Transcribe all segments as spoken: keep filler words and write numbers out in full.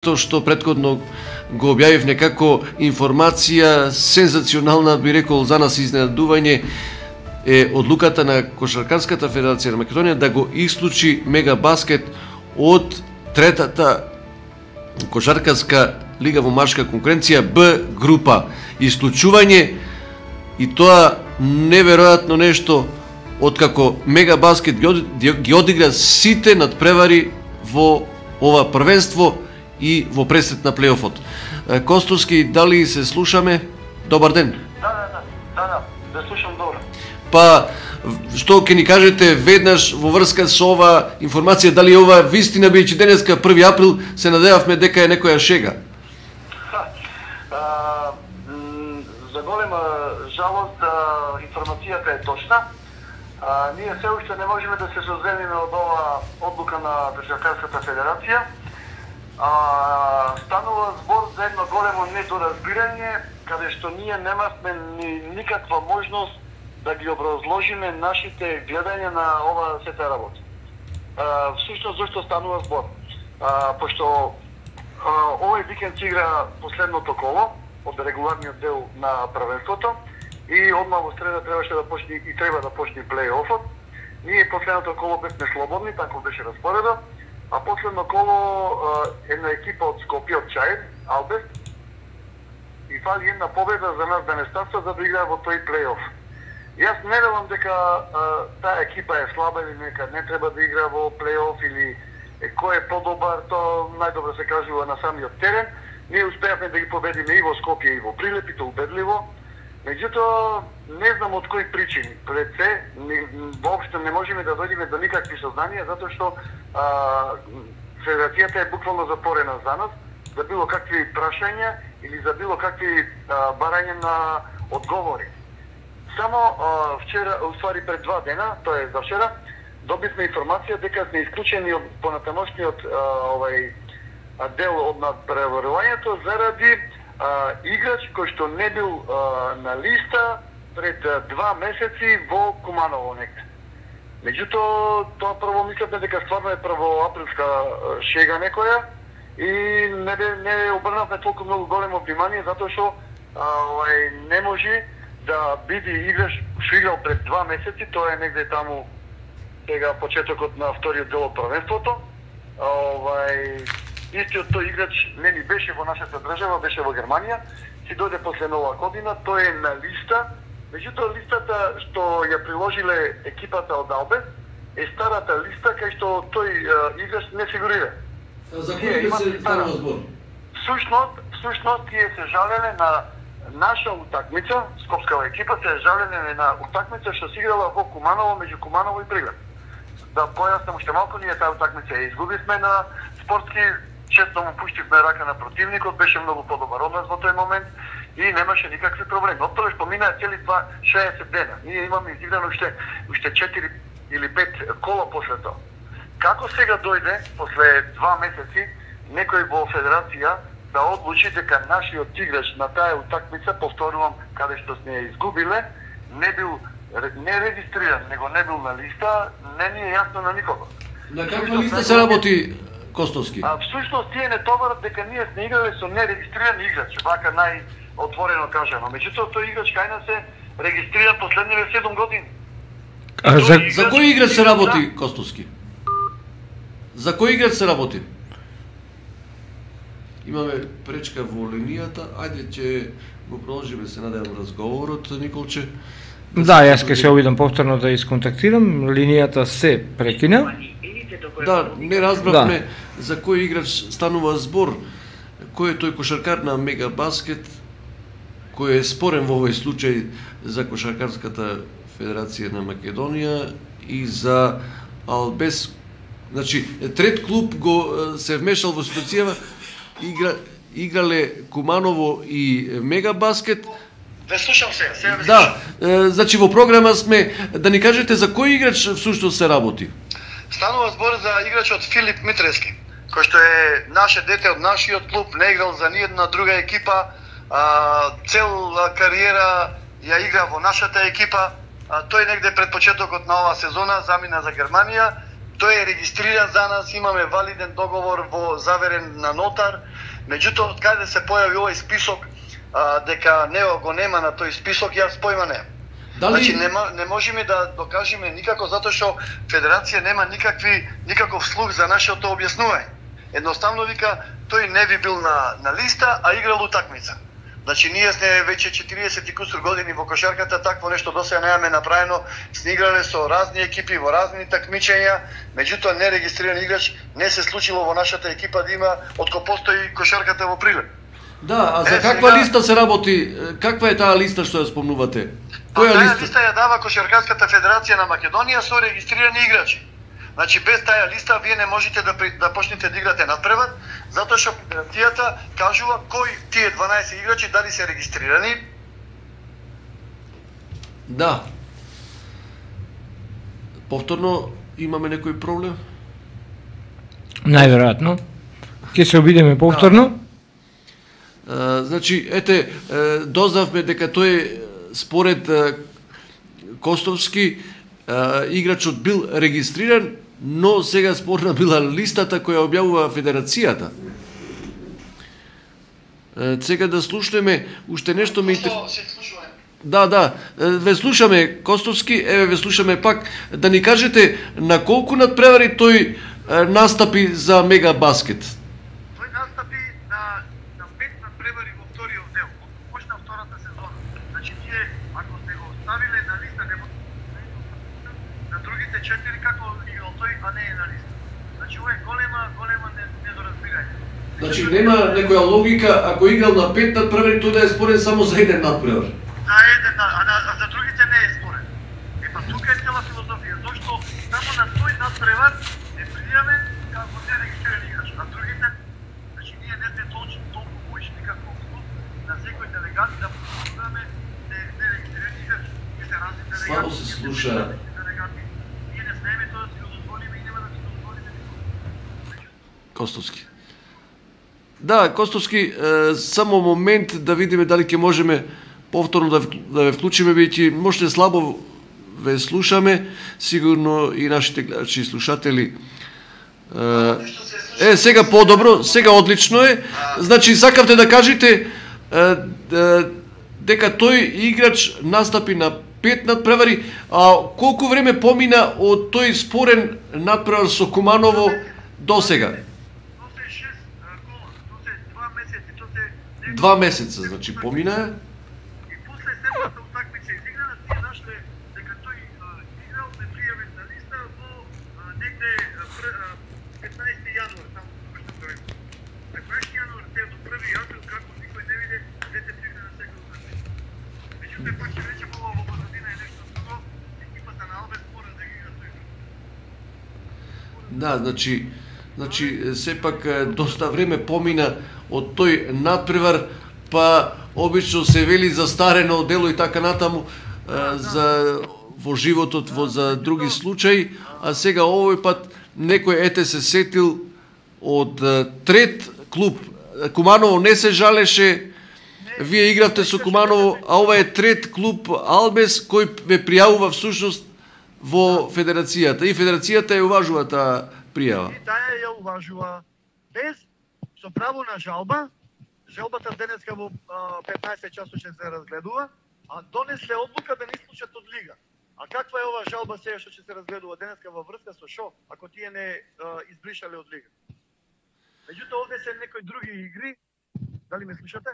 То што претходно го објавив некако информација сензационална, би рекол за нас изненадување, е одлуката на Кошаркарската федерација на Македонија да го исклучи Мегабаскет од третата кошаркарска лига во машка конкуренција Б група. Исклучување и тоа неверојатно нешто, откако Мегабаскет ги одигра сите надпревари во ова првенство и во пресет на плейофот. Костовски, дали се слушаме? Добар ден. Да, да, да, да, да, да слушам добро. Па, што ќе ни кажете веднаш во врска со ова информација, дали ова вистина, бидејќи денеска први април се надевавме дека е некоја шега? А, за голема жалост, информацијата е точна. А, ние се уште не можеме да се созвемиме од ова одлука на Кошаркарската федерација. А, станува збор за едно големо недоразбирање, каде што ние немавме ни никаква можност да ги образложиме нашите гледања на ова сета работа. А, всушност, зашто станува збор? А, пошто а, овој викенд се игра последното коло од регуларниот дел на првенството и одма во среда требаше да почне и треба да почне плей-офот. Ние последното коло бевме слободни, тако беше распоредот. А последно коло една екипа од Скопје, од Чаир, Албес, и фали една победа за нас денеставца за да игра во тој плей-оф. Јас не верувам дека а, таа екипа е слаба или нека не треба да игра во плей-оф или е, кој е подобар, то најдобро се кажува на самиот терен. Ние успеавме да ги победиме и во Скопје и во Прилеп, и то убедливо. Меѓутоа, не знам од кои причини. Пред се, не, воопшто не можеме да дојдеме до никакви сознанија, затоа што а, федерацијата е буквално затворена за нас, за било какви прашања или за било какви а, барања на одговори. Само а, вчера, уствари пред два дена, тоа е за вчера, добивме информација дека сме исклучени од понатамошниот овај дел од надпреварувањето заради Uh, играч кој што не бил uh, на листа пред uh, два месеци во Куманово некаде. Меѓутоа, тоа прво мислевме дека стварно е првоаприлска uh, шега некоја и не, не обрнавме толку многу големо внимание затоа што uh, не може да биде играч што играл пред два месеци, тоа е негде таму сега почетокот на вториот дел од првенството. Uh, Истиот тој играч не ни беше во нашата држава, беше во Германија, си дојде после нова година, тој е на листа, меѓутоа листата што ја приложиле екипата од Албес е старата листа кај што тој е, играч не фигурира. За кој се станува збор? Всушност, всушност тие се жалеле на наша утакмица, скопскава екипа се жалеле на утакмица што се играла во Куманово, меѓу Куманово и Прилеп. Да појаснам уште малку, ние таа утакмица ја изгубивме на спортски. Често му пуштивме рака на противникот, беше многу подобар од нас во тој момент и немаше никакви проблеми. Од тоа што минаа цели два шеесет дена. Ние имаме изиграно уште уште четири или пет кола после тоа. Како сега дојде после два месеци некој во федерација да одлучи дека нашиот играч на таа утакмица, повторувам, каде што сме ја изгубиле, не бил не регистриран, него не бил на листа, не ни е јасно на никого. На каква листа се работи, Костовски? А всушност тие не товарат дека ние сме играле со нерегистриран играч, вака најотворено кажано. Меѓутоа тој играч кај нас е регистриран последниве седум години. А за, играч... за кој играч се работи, Костовски? За кој играч се работи? Имаме пречка во линијата, ајде ќе го продолжиме, се надевам, разговорот, Николче. Да, јас ќе се обидам повторно да исконтактирам, линијата се прекина. Да, не разбравме да. За кој играч станува збор, кој е тој кошаркар на Мегабаскет, кој е спорен во овој случај за Кошаркарската федерација на Македонија и за Албес. Значи, трет клуб го се вмешал во ситуацијава, игра, играле Куманово и Мегабаскет. Ве слушам се, се ве Да, е, значи во програма сме, да ни кажете за кој играч всушност се работи? Станува збор за играчот Филип Митрески, кој што е наше дете од нашиот клуб, не играл за ниедна друга екипа, а, цел кариера ја игра во нашата екипа. А, тој негде пред почетокот на оваа сезона замина за Германија тој е регистриран за нас, имаме валиден договор во заверен на нотар, меѓутоа од каде се појави овој список, а, дека него го нема на тој список, јас појма не. Дали... Значи не, не можеме да докажеме никако затоа што Федерација нема никакви никаков слух за нашето објаснување. Едноставно вика тој не би бил на на листа, а играл утакмица. Значи ние сме веќе четириесет и кусур години во кошарката, такво нешто досега немаме направено. Сме играле со разни екипи во разни такмичења, меѓутоа нерегистриран играч не се случило во нашата екипа да има откако постои кошарката во Прилеп. Да, а за е, каква сега... листа се работи? Каква е таа листа што ја спомнувате? Која листа? Таа листа ја дава Кошаркарската федерација на Македонија со регистрирани играчи. Значи без таа листа вие не можете да да почнете да играте надпревар, затоа што федерацијата кажува кои тие дванаесет играчи дали се регистрирани. Да. Повторно имаме некој проблем? Најверојатно. Ќе се обидеме повторно. Да. Uh, значи, ете, uh, дознавме дека тој според uh, Костовски uh, играчот бил регистриран, но сега спорна била листата која објавува Федерацијата. Uh, сега да слушнеме уште нешто ми интер... Да, да, ве слушаме Костовски, еве ве слушаме пак да ни кажете на колку надпревари тој uh, настапи за Мега Баскет. Значи нема некоја логика ако играл на пет надпревари тој да е спорен само за еден надпревар. За еден, а, а за другите не е спорен. Е па тука е цела филозофија, зашто само на тој надпревар е пријавен како нерегистриран играч, а другите, значи ние не сме точно толку мојшни како клуб на секој делегат да покажуваме нерегистриран играч. Ние се разни делегати. Слабо се слуша. Ние не смееме тоа да си го дозволиме и нема да си го дозволиме никога. Костовски. Да, Костовски, е, само момент да видиме дали ќе можеме повторно да, да ве вклучиме, бидејќи можете слабо ве слушаме, сигурно и нашите гледачи и слушатели. Е, е сега подобро, сега одлично е. Значи, сакавте да кажете е, е, дека тој играч настапи на пет надпревари, а колку време помина од тој спорен надпревар со Куманово до сега? Два месеца, значи помина. И после следната утакмица изиграна, тие нашле дека тој играл непријавен на листа во негде петнаесети јануар, таму што тоа е. петнаесети јануар те до први април како никој не виде, дете пригна на секој утакмица. Меѓутоа пак ќе речем ова во позадина е нешто друго, екипата на Албес мора да ги игра тој. Да, значи Значи, сепак доста време помина од тој надпревар, па обично се вели застарено дело и така натаму за во животот во за други случаи, а сега овој пат некој ете се сетил од трет клуб. Куманово не се жалеше, вие игравте со Куманово, а ова е трет клуб Албес кој ве пријавува всушност во Федерацијата и Федерацијата ја уважува таа пријава. И таа ја уважува без со право на жалба. Жалбата денеска во петнаесет часот ќе се разгледува, а донесе одлука да не исклучат од лига. А каква е ова жалба сега што ќе се разгледува денеска во врска со шо, ако тие не а, избришале од лига? Меѓутоа овде се некои други игри, дали ме слушате?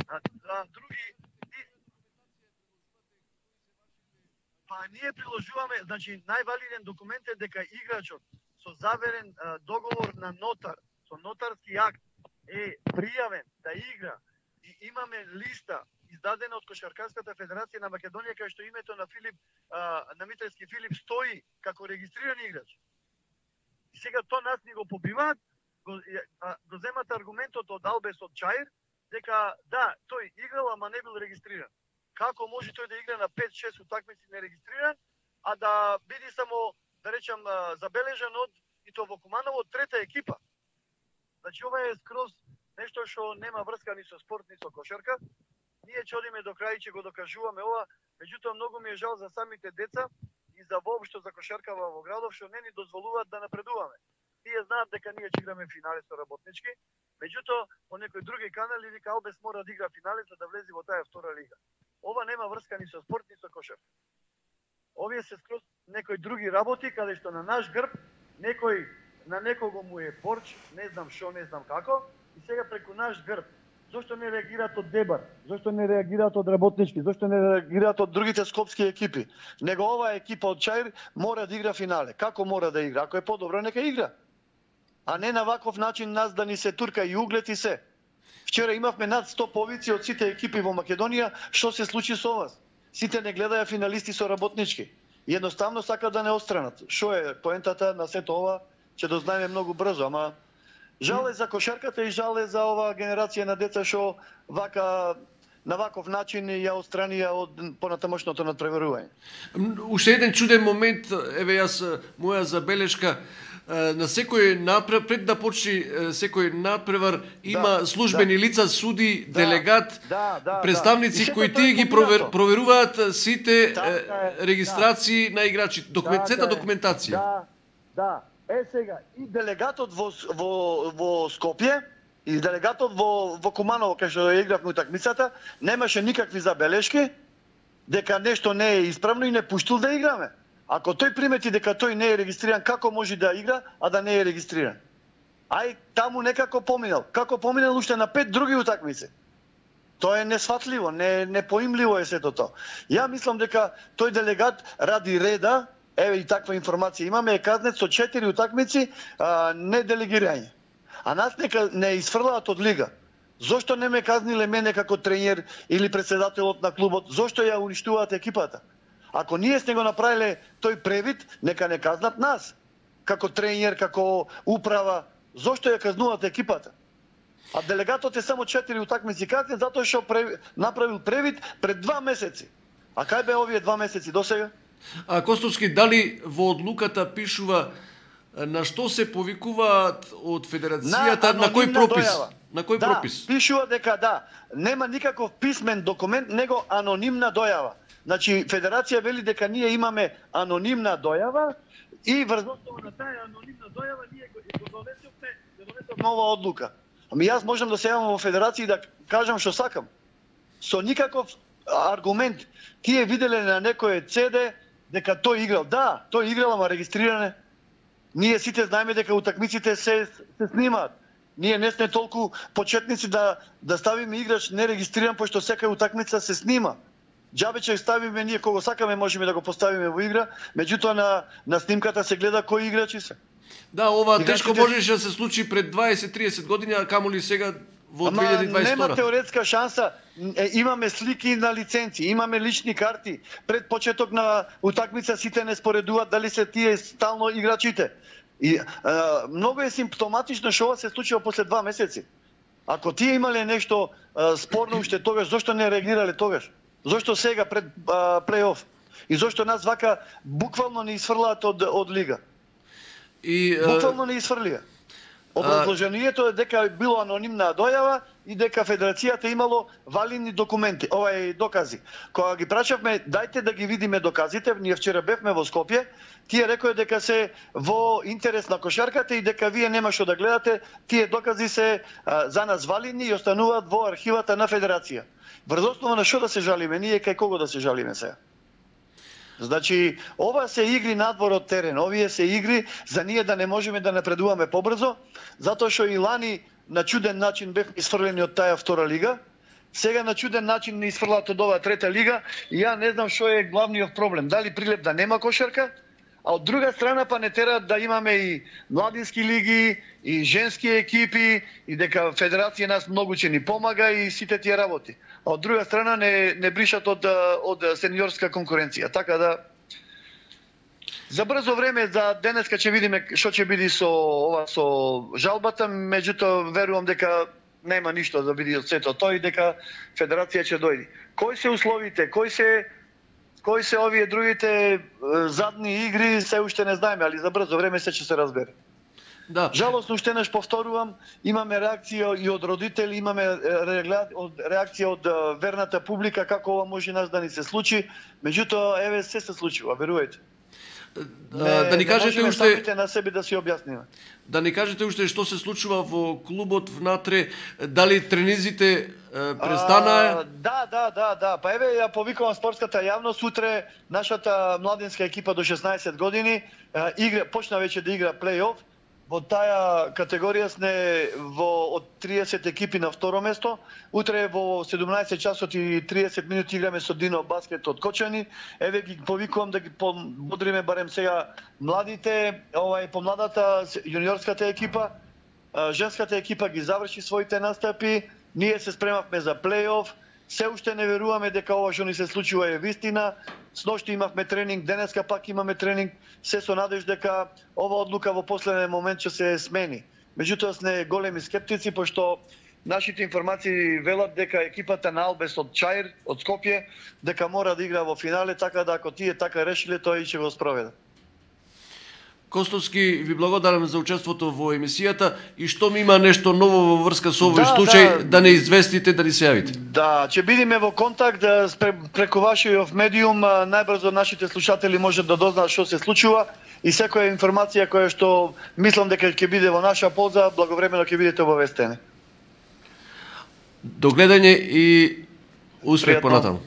А, а други Па ние приложуваме, значи највалиден документ е дека играчот со заверен а, договор на нотар, со нотарски акт е пријавен да игра и имаме листа издадена од Кошаркарската федерација на Македонија кај што името на Филип а, на Митревски Филип стои како регистриран играч. И сега тоа нас ни го побиваат, го, а, го земат аргументот од Албес од Чаир дека да, тој играл ама не бил регистриран. Како може тој да игра на пет-шест утакмици нерегистриран, а да биде само, да речам, забележан од и то во Куманово трета екипа. Значи ова е скроз нешто што нема врска ни со спорт, ни со кошарка. Ние ќе одиме до крај, ќе го докажуваме ова, меѓутоа многу ми е жал за самите деца и за воопшто за кошаркава во градов што не ни дозволуваат да напредуваме. Тие знаат дека ние ќе играме финале со Работнички, меѓутоа по некои други канали вика Албес мора да игра финале за да влезе во таа втора лига. Ова нема врска ни со спорт ни со кошарка. Овие се скроз некои други работи каде што на наш грб некој на некого му е порч, не знам што, не знам како, и сега преку наш грб. Зошто не реагираат од Дебар? Зошто не реагираат од Работнички? Зошто не реагираат од другите скопски екипи? Него оваа екипа од Чаир мора да игра финале. Како мора да игра? Ако е подобро, нека игра. А не на ваков начин нас да ни се турка и углед и се. Вчера имавме над сто повици од сите екипи во Македонија. Што се случи со вас? Сите не гледаја финалисти со Работнички. Едноставно сака да не отстранат. Што е поентата на сето ова? Ќе дознаеме многу брзо, ама жал е за кошарката и жал е за оваа генерација на деца што вака на ваков начин ја отстранија од понатамошното надпреварување. Уште еден чуден момент, еве јас моја забелешка, на секој надпревар, пред да почне секој надпревар има да, службени да. лица, суди, да, делегат, да, да, представници да. кои тие ги провер, проверуваат сите да, регистрации да. на играчи, документација, да, документација. Да, да. Е сега, и делегатот во, во, во Скопје, и делегатот во, во Куманово, кај што игравме утакмицата, немаше никакви забелешки дека нешто не е исправно и не пуштил да играме. Ако тој примети дека тој не е регистриран, како може да игра, а да не е регистриран? Ај, таму некако поминал. Како поминал уште на пет други утакмици. Тоа е несфатливо, не, непоимливо е сето тоа. Ја мислам дека тој делегат ради реда. Еве и таква информација имаме, е казнет со четири утакмици а, не делегирање. А нас нека не изфрлаат од лига. Зошто не ме казниле мене како тренер или председателот на клубот? Зошто ја уништуваат екипата? Ако ние сме го направиле тој превид, нека не казнат нас. Како тренер, како управа, зошто ја казнуваат екипата? А делегатот е само четири утакмици казнет затоа што прев... направил превид пред два месеци. А кај бе овие два месеци досега? А Костовски, дали во одлуката пишува на што се повикуваат од федерацијата, на, на кој пропис? Дојава. На кој да, пропис? Пишува дека да, нема никаков писмен документ, него анонимна дојава. Значи федерација вели дека ние имаме анонимна дојава и врз основа на таа анонимна дојава ние го донесовме, го донесовме нова одлука. Ами јас можам да се јавам во федерација и да кажам што сакам. Со никаков аргумент. Тие виделе на некој Це Де дека тој играл. Да, тој играл, ама регистриране. Ние сите знаеме дека утакмиците се, се снимаат. Ние не сме толку почетници да, да ставиме играч нерегистриран, пошто секоја утакмица се снима. Џабе ќе ставиме ние кого сакаме, можеме да го поставиме во игра, меѓутоа на, на снимката се гледа кои играчи се. Да, ова играчите... тешко можеше да се случи пред дваесет триесет години, а камоли сега во две илјади и дваесет и втора. Нема теоретска шанса. Имаме слики на лиценци, имаме лични карти. Пред почеток на утакмица сите не споредуваат дали се тие стално играчите. И а, многу е симптоматично што ова се случува после два месеци. Ако тие имале нешто а, спорно уште тогаш, зошто не реагирале тогаш? Зошто сега пред а, плей-оф? И зошто нас вака буквално не изфрлаат од од лига? И буквално не изфрлија. Образложението е дека било анонимна дојава и дека федерацијата имало валидни документи, овај докази. Кога ги прашавме, дајте да ги видиме доказите, ние вчера бевме во Скопје, тие рекоа дека се во интерес на кошарката и дека вие нема што да гледате, тие докази се а, за нас валидни и остануваат во архивата на федерација. Врз основа на што да се жалиме, ние кај кого да се жалиме сега? Значи, ова се игри надвор од терен, овие се игри за ние да не можеме да напредуваме побрзо, затоа што и лани на чуден начин бевме изфрлени од таа втора лига, сега на чуден начин не изфрлат од оваа трета лига и ја не знам што е главниот проблем, дали Прилеп да нема кошарка, а од друга страна па не тераат да имаме и младински лиги, и женски екипи, и дека федерација нас многу ќе ни помага и сите тие работи. А од друга страна не, не бришат од, од сениорска конкуренција. Така да, за брзо време, за денеска ќе видиме што ќе биде со ова со жалбата, меѓутоа верувам дека нема ништо да биде од сето тоа и дека федерација ќе дојде. Кои се условите, кои се кои се овие другите задни игри, се уште не знаеме, али за брзо време се ќе се разбере. Да. Жалосно уште неш повторувам, имаме реакција и од родители, имаме реакција од верната публика како ова може нас да ни се случи, меѓутоа еве се се случува, верувајте. да ни кажете не уште самите на себе да си објасниме. Да ни кажете уште што се случува во клубот внатре, дали тренизите престанаа? Да, да, да, да. Па еве ја повикувам спортската јавност, утре нашата младинска екипа до шеснаесет години игра, почна веќе да игра плей-оф. Во таа категорија сме во од триесет екипи на второ место. Утре во седумнаесет часот и триесет минути играме со Дино Баскет од Кочани. Еве ги повикувам да ги подбодриме барем сега младите, овај помладата јуниорската екипа, женската екипа ги заврши своите настапи. Ние се спремавме за плей-оф. Се уште не веруваме дека ова што ни се случува е вистина. Сношти имавме тренинг, денеска пак имаме тренинг, се со надеж дека ова одлука во последен момент ќе се смени. Меѓутоа сме големи скептици, пошто нашите информации велат дека екипата на Албес од Чаир, од Скопје, дека мора да игра во финале, така да ако тие така решиле, тоа и ќе го спроведа. Костовски, ви благодарам за учеството во емисијата и што ми има нешто ново во врска со овој да, случај, да, да не известите, да ни се јавите. Да, ќе бидеме во контакт да, преку вашиот медиум, најбрзо нашите слушатели можат да дознаат што се случува и секоја информација која што мислам дека ќе биде во наша полза, благовремено ќе бидете обавестени. До гледање и успех понатаму.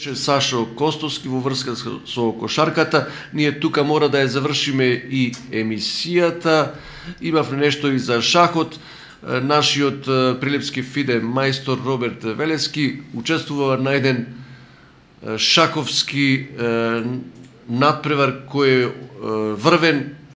Сашо Костовски во врска со кошарката. Ние тука мора да ја завршиме и емисијата. Имавме нешто и за шахот. Нашиот прилепски фиде мајстор Роберт Велески учествува на еден шаковски надпревар кој е врвен